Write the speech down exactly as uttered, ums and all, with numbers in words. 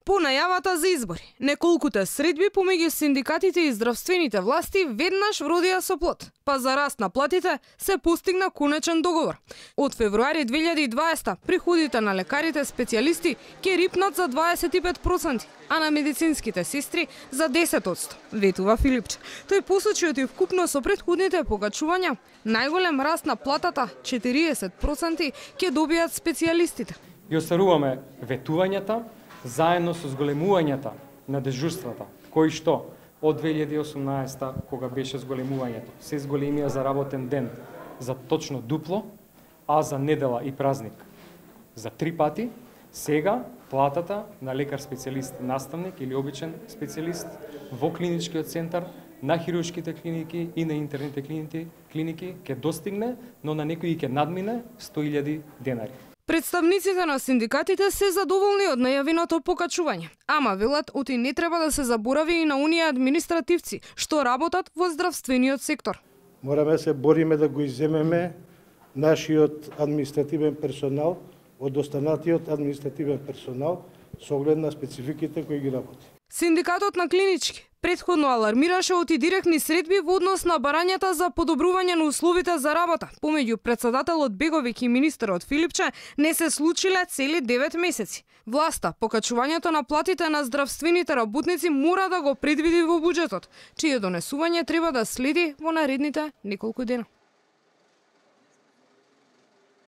По најавата за избори, неколкуте средби помеѓу синдикатите и здравствените власти веднаш вродија со плод, па за раст на платите се постигна конечен договор. Од февруари две илјади и дваесета приходите на лекарите специјалисти ќе рипнат за дваесет и пет проценти, а на медицинските сестри за десет проценти, ветува Филипче. Тој посочи оти вкупно со претходните покачувања, најголем раст на платата, четириесет проценти, ќе добијат специјалистите. Ги остваруваме ветувањата заедно со зголемувањата на дежурствата, кои што од две илјади и осумнаесета, кога беше зголемувањето, се зголемија за работен ден за точно дупло, а за недела и празник за три пати. Сега платата на лекар специјалист наставник или обичен специјалист во клиничкиот центар, на хируршките клиники и на интерните клиники, клиники ќе достигне, но на некои ќе надмине сто илјади денари. Представниците на синдикатите се задоволни од најавеното покачување, ама велат оти не треба да се заборави и на оние административци што работат во здравствениот сектор. Мораме се бориме да го изземеме нашиот административен персонал од останатиот административен персонал со оглед на спецификите кои ги работи. Синдикатот на клинички претходно алармираше оти директни средби во однос на барањата за подобрување на условите за работа. Помеѓу председателот Беговиќ и министерот Филипче не се случиле цели девет месеци. Власта покачувањето на платите на здравствените работници мора да го предвиди во буџетот, чие донесување треба да следи во наредните неколку дена.